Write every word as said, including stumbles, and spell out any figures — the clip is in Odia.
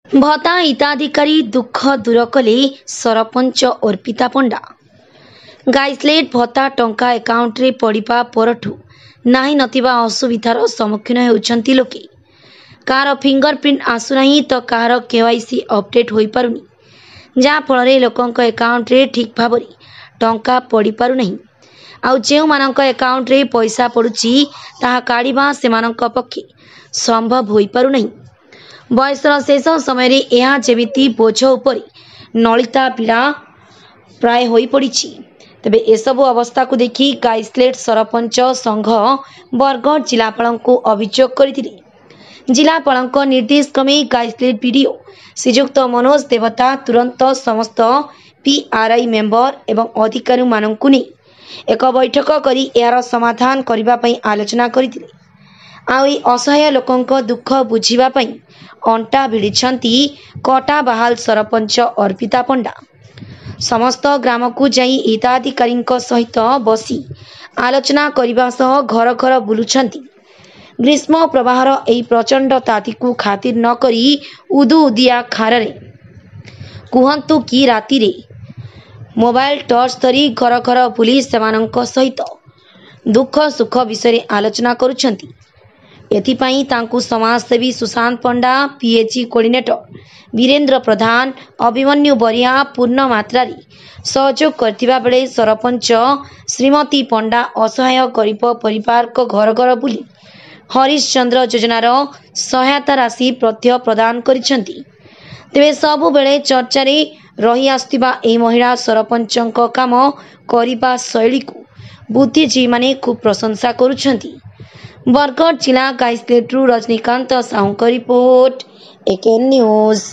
ଭତ୍ତା ହିତାଧିକାରୀ ଦୁଃଖ ଦୂର କଲେ ସରପଞ୍ଚ ଅର୍ପିତା ପଣ୍ଡା। ଗାଇସ୍ଲେଟ୍ ଭତ୍ତା ଟଙ୍କା ଆକାଉଣ୍ଟରେ ପଡ଼ିବା ପରଠୁ ନାହିଁ ନଥିବା ଅସୁବିଧାର ସମ୍ମୁଖୀନ ହେଉଛନ୍ତି ଲୋକେ। କାହାର ଫିଙ୍ଗର ପ୍ରିଣ୍ଟ ଆସୁନାହିଁ ତ କାହାର କେୱାଇସି ଅପଡେଟ୍ ହୋଇପାରୁନି, ଯାହାଫଳରେ ଲୋକଙ୍କ ଆକାଉଣ୍ଟରେ ଠିକ୍ ଭାବରେ ଟଙ୍କା ପଡ଼ିପାରୁନାହିଁ। ଆଉ ଯେଉଁମାନଙ୍କ ଆକାଉଣ୍ଟରେ ପଇସା ପଡ଼ୁଛି, ତାହା କାଢ଼ିବା ସେମାନଙ୍କ ପକ୍ଷେ ସମ୍ଭବ ହୋଇପାରୁନାହିଁ। ବୟସର ଶେଷ ସମୟରେ ଏହା ଯେମିତି ବୋଝ ଉପରେ ନଳିତା ବିଡ଼ା ପ୍ରାୟ ହୋଇପଡ଼ିଛି। ତେବେ ଏସବୁ ଅବସ୍ଥାକୁ ଦେଖି ଗାଇସ୍ଲେଟ୍ ସରପଞ୍ଚ ସଂଘ ବରଗଡ଼ ଜିଲ୍ଲାପାଳଙ୍କୁ ଅଭିଯୋଗ କରିଥିଲେ। ଜିଲ୍ଲାପାଳଙ୍କ ନିର୍ଦ୍ଦେଶ କ୍ରମେ ଗାଇସ୍ଲେଟ୍ ବିଡିଓ ଶ୍ରୀଯୁକ୍ତ ମନୋଜ ଦେବତା ତୁରନ୍ତ ସମସ୍ତ ପିଆର୍ଆଇ ମେମ୍ବର ଏବଂ ଅଧିକାରୀମାନଙ୍କୁ ନେଇ ଏକ ବୈଠକ କରି ଏହାର ସମାଧାନ କରିବା ପାଇଁ ଆଲୋଚନା କରିଥିଲେ। ଆଉ ଏହି ଅସହାୟ ଲୋକଙ୍କ ଦୁଃଖ ବୁଝିବା ପାଇଁ ଅଣ୍ଟା ଭିଡ଼ିଛନ୍ତି କଟାବାହାଲ ସରପଞ୍ଚ ଅର୍ପିତା ପଣ୍ଡା। ସମସ୍ତ ଗ୍ରାମକୁ ଯାଇ ହିତାଧିକାରୀଙ୍କ ସହିତ ବସି ଆଲୋଚନା କରିବା ସହ ଘର ଘର ବୁଲୁଛନ୍ତି। ଗ୍ରୀଷ୍ମ ପ୍ରବାହର ଏହି ପ୍ରଚଣ୍ଡ ତାତିକୁ ଖାତିର ନ କରି ଉଦୁଉଦିଆ ଖରାରେ କୁହନ୍ତୁ କି ରାତିରେ ମୋବାଇଲ ଟର୍ଚ୍ଚ ଧରି ଘର ଘର ବୁଲି ସେମାନଙ୍କ ସହିତ ଦୁଃଖ ସୁଖ ବିଷୟରେ ଆଲୋଚନା କରୁଛନ୍ତି। ଏଥିପାଇଁ ତାଙ୍କୁ ସମାଜସେବୀ ସୁଶାନ୍ତ ପଣ୍ଡା, ପିଏଚ୍ କୋଅର୍ଡିନେଟର ବୀରେନ୍ଦ୍ର ପ୍ରଧାନ, ଅଭିମନ୍ୟୁ ବରିହା ପୂର୍ଣ୍ଣ ମାତ୍ରାରେ ସହଯୋଗ କରିଥିବା ବେଳେ ସରପଞ୍ଚ ଶ୍ରୀମତୀ ପଣ୍ଡା ଅସହାୟ ଗରିବ ପରିବାରଙ୍କ ଘର ଘର ବୁଲି ହରିଶ୍ଚନ୍ଦ୍ର ଯୋଜନାର ସହାୟତା ରାଶି ମଧ୍ୟ ପ୍ରଦାନ କରିଛନ୍ତି। ତେବେ ସବୁବେଳେ ଚର୍ଚ୍ଚାରେ ରହି ଆସୁଥିବା ଏହି ମହିଳା ସରପଞ୍ଚଙ୍କ କାମ କରିବା ଶୈଳୀକୁ ବୁଦ୍ଧିଜୀବୀମାନେ ଖୁବ୍ ପ୍ରଶଂସା କରୁଛନ୍ତି। ବରଗଡ଼ ଜିଲ୍ଲା ଗାଇସ୍ଲେଟ୍ରୁ ରଜନୀକାନ୍ତ ସାହୁଙ୍କ ରିପୋର୍ଟ, ଏକେଏନ୍ ନ୍ୟୁଜ୍।